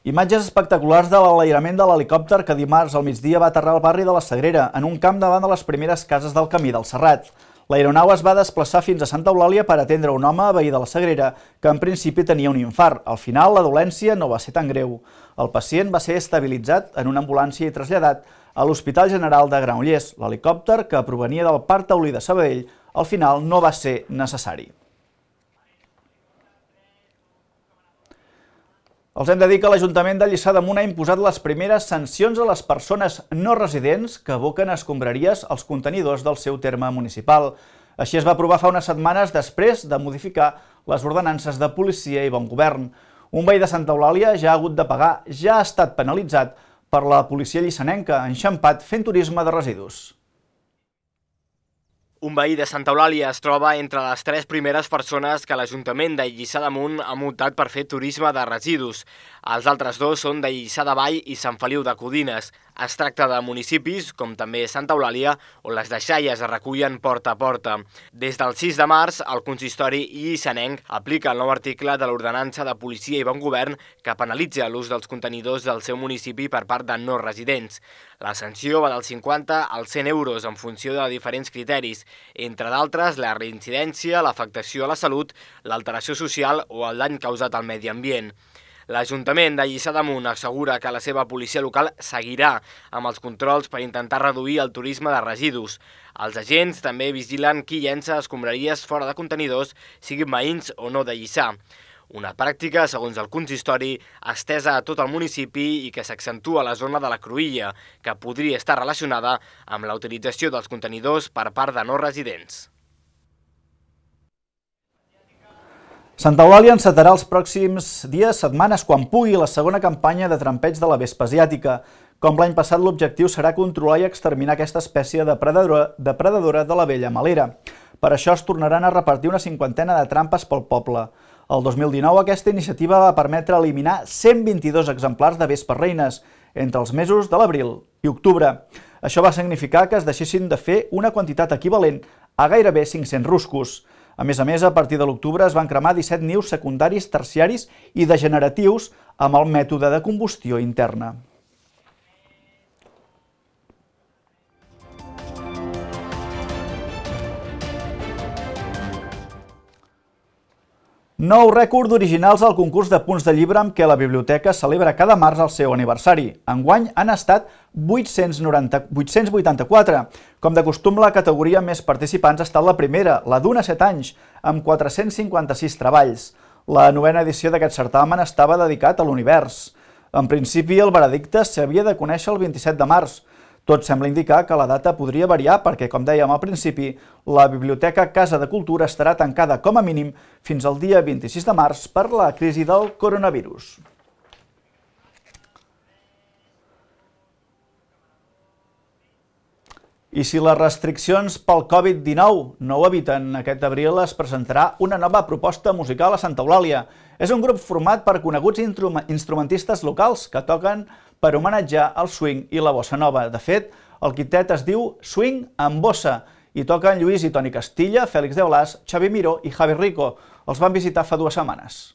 Imatges espectaculars de l'enlairament de l'helicòpter que dimarts al migdia va aterrar al barri de la Sagrera, en un camp davant de les primeres cases del camí del Serrat. L'aeronau es va desplaçar fins a Santa Eulàlia per atendre un home veí de la Sagrera, que en principi tenia un infart. Al final, la dolència no va ser tan greu. El pacient va ser estabilitzat en una ambulància i traslladat a l'Hospital General de Granollers. L'helicòpter, que provenia del Parc Taulí de Sabadell, al final no va ser necessari. Els hem de dir que l'Ajuntament de Lliçà d'Amunt ha imposat les primeres sancions a les persones no residents que aboquen escombraries als contenidors del seu terme municipal. Així es va aprovar fa unes setmanes després de modificar les ordenances de policia i bon govern. Un veí de Santa Eulàlia ja ha hagut de pagar, ja ha estat penalitzat per la policia llissanenca, enxampat fent turisme de residus. Un veí de Santa Eulàlia es troba entre les tres primeres persones que l'Ajuntament de Lliçà d'Amunt ha multat per fer turisme de residus. Els altres dos són de Lliçà de Vall i Sant Feliu de Codines. Es tracta de municipis, com també Santa Eulàlia, on les deixalles es recullen porta a porta. Des del sis de març, el consistori llissanenc aplica el nou article de l'Ordenança de Policia i Bon Govern que penalitza l'ús dels contenidors del seu municipi per part de no residents. La sanció va dels cinquanta als cent euros en funció de diferents criteris, entre d'altres la reincidència, l'afectació a la salut, l'alteració social o el dany causat al medi ambient. L'Ajuntament de Lliçà d'Amunt assegura que la seva policia local seguirà amb els controls per intentar reduir el turisme de residus. Els agents també vigilen qui llença escombraries fora de contenidors, siguin veïns o no de Lliçà. Una pràctica, segons el consistori, estesa a tot el municipi i que s'accentua a la zona de la Cruïlla, que podria estar relacionada amb la utilització dels contenidors per part de no residents. Santa Eulàlia encetarà els pròxims dies, setmanes, quan pugui, la segona campanya de trampeig de la vespa asiàtica. Com l'any passat, l'objectiu serà controlar i exterminar aquesta espècie depredadora, depredadora de la vella melera. Per això es tornaran a repartir una cinquantena de trampes pel poble. El dos mil dinou aquesta iniciativa va permetre eliminar cent vint-i-dos exemplars de vespes reines entre els mesos de l'abril i octubre. Això va significar que es deixessin de fer una quantitat equivalent a gairebé cinc-cents ruscos. A més a més, a partir de l'octubre es van cremar disset nius secundaris, terciaris i degeneratius amb el mètode de combustió interna. Nou rècord d'originals al concurs de punts de llibre amb què la biblioteca celebra cada març el seu aniversari. Enguany han estat vuit-cents vuitanta-quatre. Com de costum, la categoria amb més participants ha estat la primera, la d'un a set anys, amb quatre-cents cinquanta-sis treballs. La novena edició d'aquest certamen estava dedicat a l'univers. En principi, el veredicte s'havia de conèixer el vint-i-set de març. Tot sembla indicar que la data podria variar perquè, com dèiem al principi, la Biblioteca Casa de Cultura estarà tancada com a mínim fins al dia vint-i-sis de març per la crisi del coronavirus. I si les restriccions pel Covid dinou no ho eviten, aquest abril es presentarà una nova proposta musical a Santa Eulàlia. És un grup format per coneguts instrumentistes locals que toquen per homenatjar el swing i la bossa nova. De fet, el quintet es diu Swing amb bossa i toquen Lluís i Toni Castilla, Fèlix de Blas, Xavi Miró i Javi Rico. Els van visitar fa dues setmanes.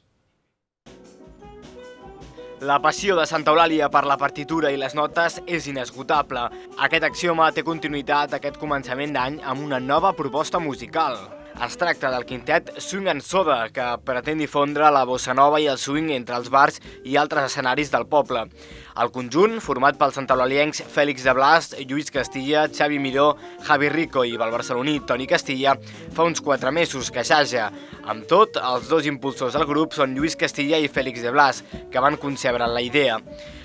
La passió de Santa Eulàlia per la partitura i les notes és inesgotable. Aquest axioma té continuïtat aquest començament d'any amb una nova proposta musical. Es tracta del quintet Swing and Soda, que pretén difondre la bossa nova i el swing entre els bars i altres escenaris del poble. El conjunt, format pels santaeulaliencs Fèlix de Blas, Lluís Castilla, Xavi Miró, Javi Rico i el barceloní Toni Castilla, fa uns quatre mesos que assaja. Amb tot, els dos impulsors del grup són Lluís Castilla i Fèlix de Blas, que van concebre la idea.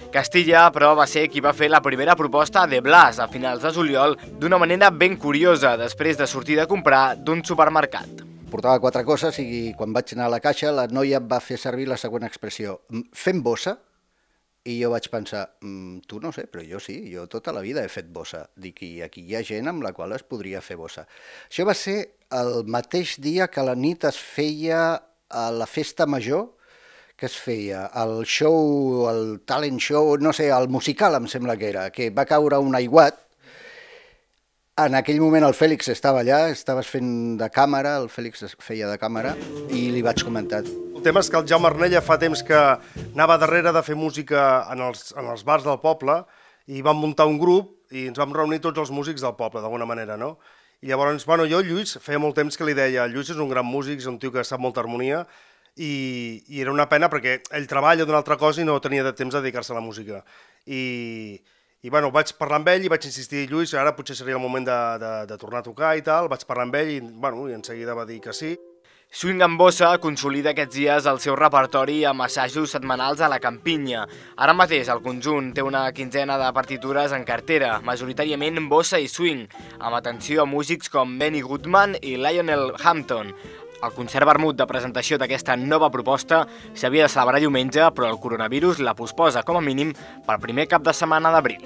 Castilla, però, va ser qui va fer la primera proposta de Blas a finals de juliol d'una manera ben curiosa, després de sortir de comprar d'un supermercat. Portava quatre coses i quan vaig anar a la caixa la noia va fer servir la següent expressió, fem bossa, i jo vaig pensar, tu no sé, però jo sí, jo tota la vida he fet bossa. Dic, i aquí hi ha gent amb la qual es podria fer bossa. Això va ser el mateix dia que la nit es feia a la festa major, que es feia el show, el talent show, no sé, el musical em sembla que era, que va caure un aiguat. En aquell moment el Fèlix estava allà, estaves fent de càmera, el Fèlix feia de càmera, i li vaig comentar, El tema és que el Jaume Arnella fa temps que anava darrere de fer música en els, en els bars del poble i vam muntar un grup i ens vam reunir tots els músics del poble, d'alguna manera, no? I llavors, bueno, jo, Lluís, feia molt temps que li deia, Lluís és un gran músic, és un tio que sap molta harmonia i, i era una pena perquè ell treballa d'una altra cosa i no tenia de temps de dedicar-se a la música. I, i bueno, vaig parlar amb ell i vaig insistir, Lluís, ara potser seria el moment de, de, de tornar a tocar i tal, vaig parlar amb ell i, bueno, i en seguida va dir que sí. Swing amb bossa consolida aquests dies el seu repertori amb assajos setmanals a la Campinya. Ara mateix el conjunt té una quinzena de partitures en cartera, majoritàriament bossa i swing, amb atenció a músics com Benny Goodman i Lionel Hampton. El concert vermut de presentació d'aquesta nova proposta s'havia de celebrar diumenge, però el coronavirus la posposa com a mínim pel primer cap de setmana d'abril.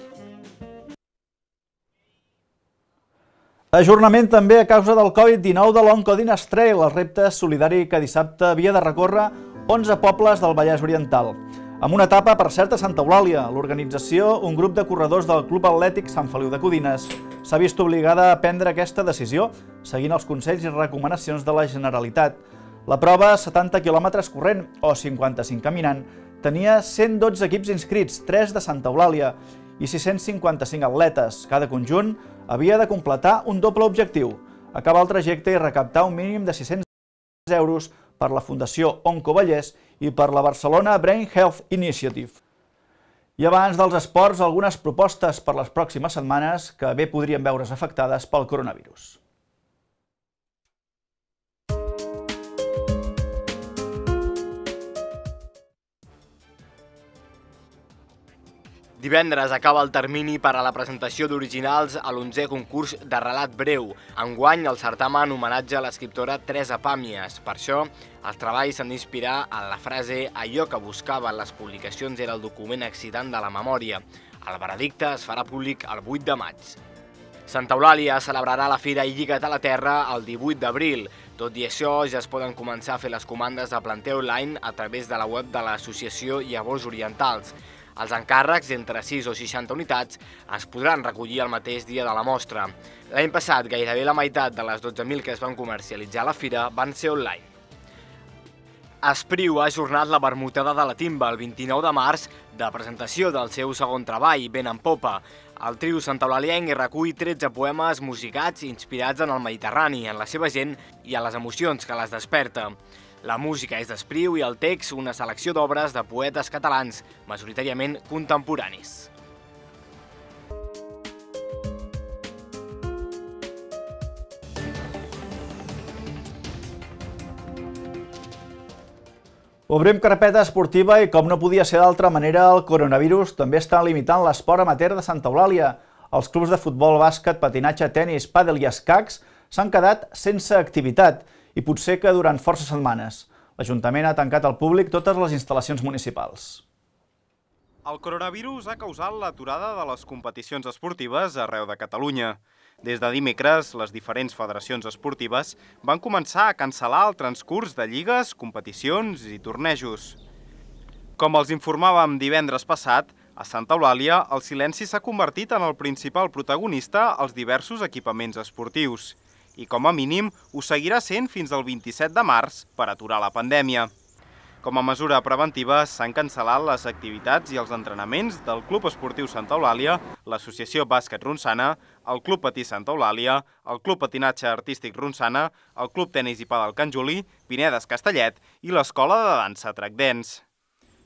Ajornament també a causa del Covid dinou de l'Oncodines Trail, el repte solidari que dissabte havia de recórrer onze pobles del Vallès Oriental. Amb una etapa, per cert, a Santa Eulàlia, l'organització, un grup de corredors del Club Atlètic Sant Feliu de Codines, s'ha vist obligada a prendre aquesta decisió, seguint els consells i recomanacions de la Generalitat. La prova, setanta quilòmetres corrent o cinquanta-cinc caminant, tenia cent dotze equips inscrits, tres de Santa Eulàlia i sis-cents cinquanta-cinc atletes. Cada conjunt havia de completar un doble objectiu, acabar el trajecte i recaptar un mínim de sis-cents euros per la Fundació Oncovallès i per la Barcelona Brain Health Initiative. I abans dels esports, algunes propostes per les pròximes setmanes que bé podrien veure's afectades pel coronavirus. Divendres acaba el termini per a la presentació d'originals a l'onzè concurs de relat breu. Enguany, el certamen homenatja a l'escriptora Teresa Pàmies. Per això, els treballs s'han d'inspirar en la frase «Allò que buscaven les publicacions era el document excitant de la memòria». El veredicte es farà públic el vuit de maig. Santa Eulàlia celebrarà la Fira Lliga't a la Terra el divuit d'abril. Tot i això, ja es poden començar a fer les comandes de planter online a través de la web de l'associació Llavors Orientals. Els encàrrecs, entre sis o seixanta unitats, es podran recollir el mateix dia de la mostra. L'any passat, gairebé la meitat de les dotze mil que es van comercialitzar a la fira van ser online. Espriu ha ajornat la vermutada de la Timba el vint-i-nou de març de presentació del seu segon treball, Vent en popa. El trio santaeulalienc hi recull tretze poemes musicats inspirats en el Mediterrani, en la seva gent i en les emocions que les desperta. La música és d'Espriu i el text una selecció d'obres de poetes catalans, majoritàriament contemporanis. Obrim carpeta esportiva i, com no podia ser d'altra manera, el coronavirus també està limitant l'esport amateur de Santa Eulàlia. Els clubs de futbol, bàsquet, patinatge, tenis, pàdel i escacs s'han quedat sense activitat i potser que durant força setmanes. L'Ajuntament ha tancat al públic totes les instal·lacions municipals. El coronavirus ha causat l'aturada de les competicions esportives arreu de Catalunya. Des de dimecres, les diferents federacions esportives van començar a cancel·lar el transcurs de lligues, competicions i tornejos. Com els informàvem divendres passat, a Santa Eulàlia el silenci s'ha convertit en el principal protagonista als diversos equipaments esportius. I com a mínim ho seguirà sent fins al vint-i-set de març per aturar la pandèmia. Com a mesura preventiva s'han cancel·lat les activitats i els entrenaments del Club Esportiu Santa Eulàlia, l'Associació Bàsquet Ronçana, el Club Patí Santa Eulàlia, el Club Patinatge Artístic Ronçana, el Club Tenis i Pàdel Can Juli, Pinedes Castellet i l'Escola de Dansa Track Dance.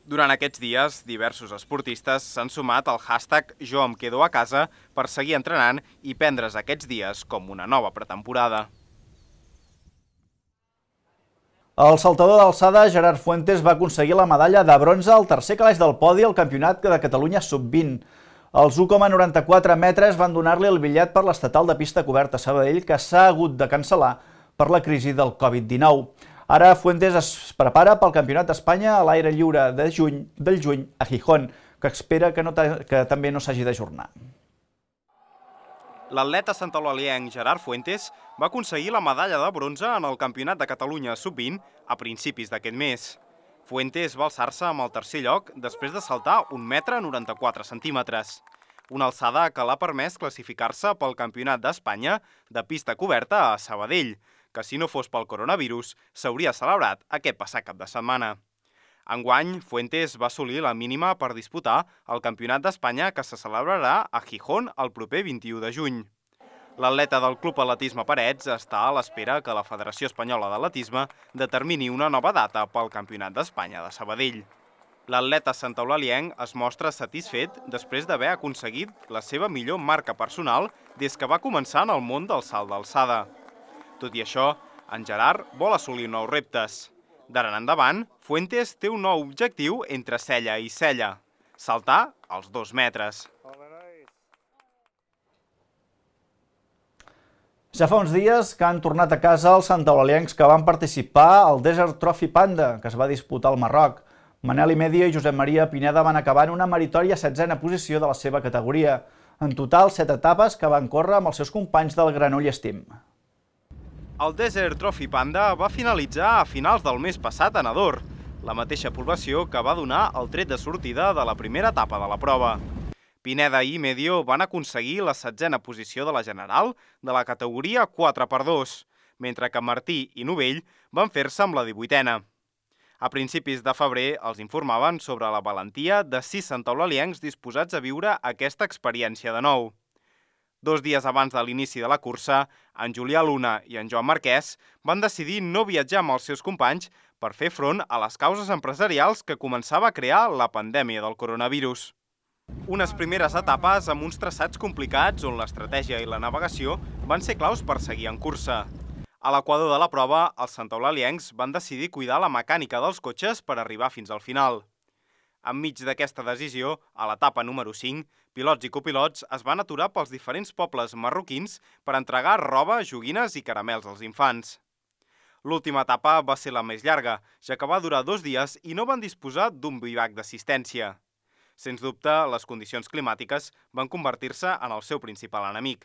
Durant aquests dies, diversos esportistes s'han sumat al hashtag Jo em quedo a casa per seguir entrenant i prendre's aquests dies com una nova pretemporada. El saltador d'alçada Gerard Fuentes va aconseguir la medalla de bronze al tercer calaix del podi al Campionat de Catalunya sub vint. Els u coma noranta-quatre metres van donar-li el bitllet per l'estatal de pista coberta a Sabadell, que s'ha hagut de cancel·lar per la crisi del Covid dinou. Ara Fuentes es prepara pel Campionat d'Espanya a l'aire lliure de juny, del juny a Gijón, que espera que, no que també no s'hagi d'ajornar. L'atleta santaeulalienc Gerard Fuentes va aconseguir la medalla de bronze en el Campionat de Catalunya sub vint a principis d'aquest mes. Fuentes va alçar-se amb el tercer lloc després de saltar un metre noranta-quatre centímetres. Una alçada que l'ha permès classificar-se pel Campionat d'Espanya de pista coberta a Sabadell, que si no fos pel coronavirus s'hauria celebrat aquest passat cap de setmana. Enguany, Fuentes va assolir la mínima per disputar el Campionat d'Espanya que se celebrarà a Gijón el proper vint-i-u de juny. L'atleta del Club Atletisme Parets està a l'espera que la Federació Espanyola d'Atletisme determini una nova data pel Campionat d'Espanya de Sabadell. L'atleta santaulalienc es mostra satisfet després d'haver aconseguit la seva millor marca personal des que va començar en el món del salt d'alçada. Tot i això, en Gerard vol assolir nous reptes. D'ara en endavant, Fuentes té un nou objectiu entre cella i cella: saltar els dos metres. Ja fa uns dies que han tornat a casa els santaulaliencs que van participar al Desert Trophy Panda, que es va disputar al Marroc. Manel Imedio i Josep Maria Pineda van acabar en una meritòria setzena posició de la seva categoria. En total, set etapes que van córrer amb els seus companys del Granollers Steam. El Desert Trophy Panda va finalitzar a finals del mes passat a Nador, la mateixa població que va donar el tret de sortida de la primera etapa de la prova. Pineda i Imedio van aconseguir la setzena posició de la general de la categoria quatre per dos, mentre que Martí i Novell van fer-se amb la divuitena. A principis de febrer els informaven sobre la valentia de sis santaulaliencs disposats a viure aquesta experiència de nou. Dos dies abans de l'inici de la cursa, en Julià Luna i en Joan Marquès van decidir no viatjar amb els seus companys per fer front a les causes empresarials que començava a crear la pandèmia del coronavirus. Unes primeres etapes amb uns traçats complicats on l'estratègia i la navegació van ser claus per seguir en cursa. A l'equador de la prova, els santaulaliencs van decidir cuidar la mecànica dels cotxes per arribar fins al final. Enmig d'aquesta decisió, a l'etapa número cinc, pilots i copilots es van aturar pels diferents pobles marroquins per entregar roba, joguines i caramels als infants. L'última etapa va ser la més llarga, ja que va durar dos dies i no van disposar d'un bivac d'assistència. Sens dubte, les condicions climàtiques van convertir-se en el seu principal enemic,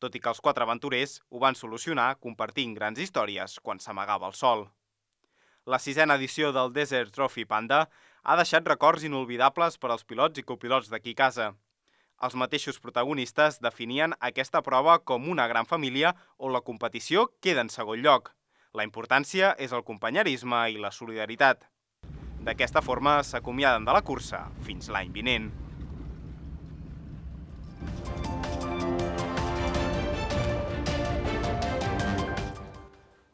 tot i que els quatre aventurers ho van solucionar compartint grans històries quan s'amagava el sol. La sisena edició del Desert Trophy Panda ha deixat records inolvidables per als pilots i copilots d'aquí a casa. Els mateixos protagonistes definien aquesta prova com una gran família on la competició queda en segon lloc. La importància és el companyerisme i la solidaritat. D'aquesta forma s'acomiaden de la cursa fins l'any vinent.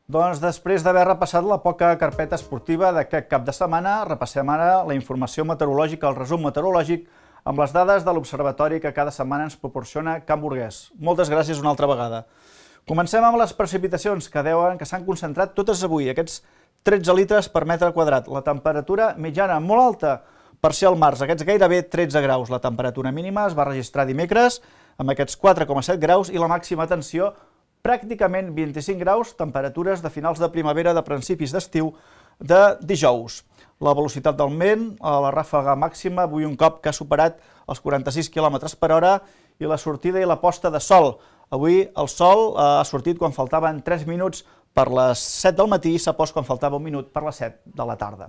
Doncs després d'haver repassat la poca carpeta esportiva d'aquest cap de setmana, repassem ara la informació meteorològica, el resum meteorològic, amb les dades de l'observatori que cada setmana ens proporciona Can Burguès. Moltes gràcies una altra vegada. Comencem amb les precipitacions que deuen que s'han concentrat totes avui, aquests tretze litres per metre quadrat. La temperatura mitjana molt alta per ser al març, aquests gairebé tretze graus. La temperatura mínima es va registrar dimecres amb aquests quatre coma set graus i la màxima tensió pràcticament vint-i-cinc graus, temperatures de finals de primavera, de principis d'estiu de dijous. La velocitat del vent, la ràfega màxima, avui un cop que ha superat els quaranta-sis quilòmetres per hora, i la sortida i la posta de sol. Avui el sol ha sortit quan faltaven tres minuts per les set del matí i s'ha post quan faltava un minut per les set de la tarda.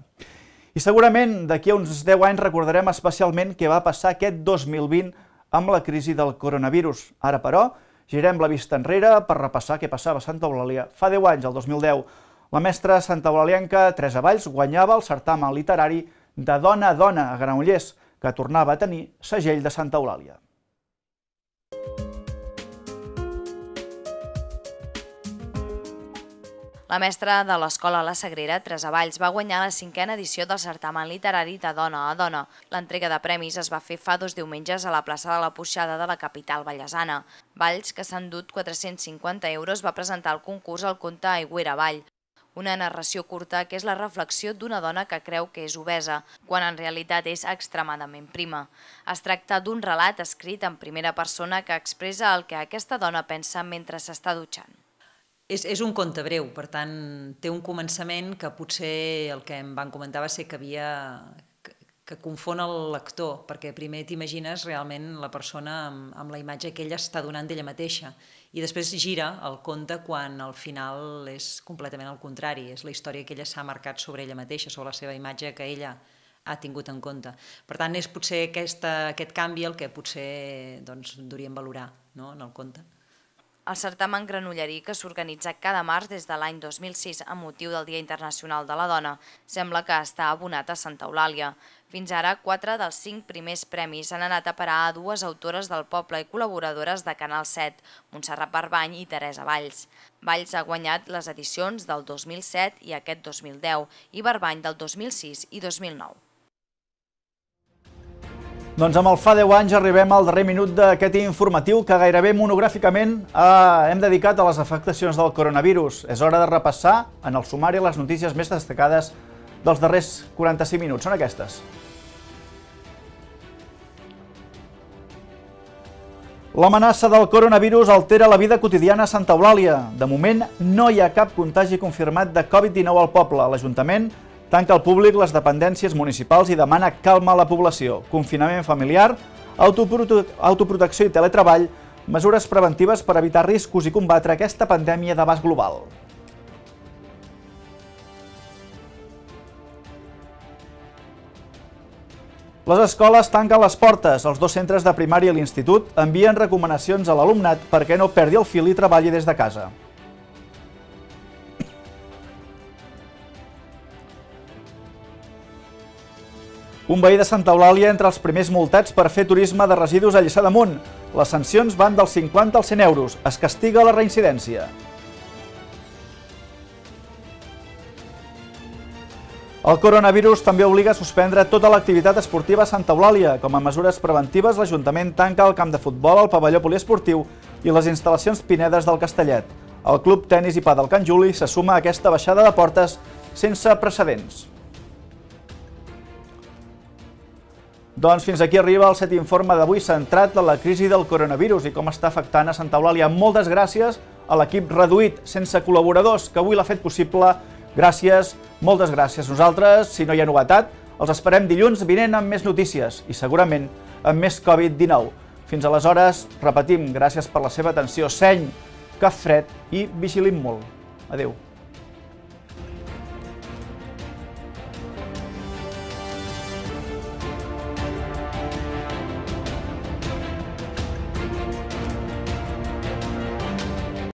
I segurament d'aquí a uns deu anys recordarem especialment què va passar aquest dos mil vint amb la crisi del coronavirus. Ara, però, girem la vista enrere per repassar què passava a Santa Eulàlia. Fa deu anys, el dos mil deu, la mestra santaeulalienca Teresa Valls guanyava el certamen literari de Dona a Dona a Granollers, que tornava a tenir segell de Santa Eulàlia. La mestra de l'escola La Sagrera, Teresa Valls, va guanyar la cinquena edició del certamen literari de Dona a Dona. L'entrega de premis es va fer fa dos diumenges a la plaça de la Puixada de la capital vallesana. Valls, que s'ha endut quatre-cents cinquanta euros, va presentar el concurs al conte Aigüera Avall, una narració curta que és la reflexió d'una dona que creu que és obesa, quan en realitat és extremadament prima. Es tracta d'un relat escrit en primera persona que expressa el que aquesta dona pensa mentre s'està dutxant. És, és un conte breu, per tant, té un començament que potser el que em van comentar va ser que havia que, que confon el lector, perquè primer t'imagines realment la persona amb, amb la imatge que ella està donant d'ella mateixa, i després gira el conte quan al final és completament al contrari, és la història que ella s'ha marcat sobre ella mateixa, sobre la seva imatge que ella ha tingut en compte. Per tant, és potser aquesta, aquest canvi el que potser doncs, hauríem valorar, no?, en el conte. El certamen granollerí, que s'organitza cada març des de l'any dos mil sis amb motiu del Dia Internacional de la Dona, sembla que està abonat a Santa Eulàlia. Fins ara, quatre dels cinc primers premis han anat a parar a dues autores del poble i col·laboradores de Canal set, Montserrat Barbany i Teresa Valls. Valls ha guanyat les edicions del dos mil set i aquest dos mil deu i Barbany del dos mil sis i dos mil nou. Doncs amb el Fa deu anys arribem al darrer minut d'aquest informatiu que gairebé monogràficament hem dedicat a les afectacions del coronavirus. És hora de repassar en el sumari les notícies més destacades dels darrers quaranta-cinc minuts. Són aquestes. L'amenaça del coronavirus altera la vida quotidiana a Santa Eulàlia. De moment, no hi ha cap contagi confirmat de Covid dinou al poble. L'Ajuntament tanca al públic les dependències municipals i demana calma a la població. Confinament familiar, autoprotecció i teletreball, mesures preventives per evitar riscos i combatre aquesta pandèmia d'abast global. Les escoles tanquen les portes. Els dos centres de primària i l'institut envien recomanacions a l'alumnat perquè no perdi el fil i treballi des de casa. Un veí de Santa Eulàlia entre els primers multats per fer turisme de residus a Lliçà d'Amunt. Les sancions van dels cinquanta als cent euros. Es castiga la reincidència. El coronavirus també obliga a suspendre tota l'activitat esportiva a Santa Eulàlia. Com a mesures preventives, l'Ajuntament tanca el camp de futbol, el pavelló poliesportiu i les instal·lacions Pinedes del Castellet. El Club Tenis i Pàdel Can Juli se suma a aquesta baixada de portes sense precedents. Doncs fins aquí arriba el set informe d'avui centrat en la crisi del coronavirus i com està afectant a Santa Eulàlia. Moltes gràcies a l'equip reduït, sense col·laboradors, que avui l'ha fet possible. Gràcies, moltes gràcies. Nosaltres, si no hi ha novetat, els esperem dilluns vinent amb més notícies i segurament amb més Covid dinou. Fins aleshores, repetim, gràcies per la seva atenció, seny, cap fred i vigilim molt. Adéu.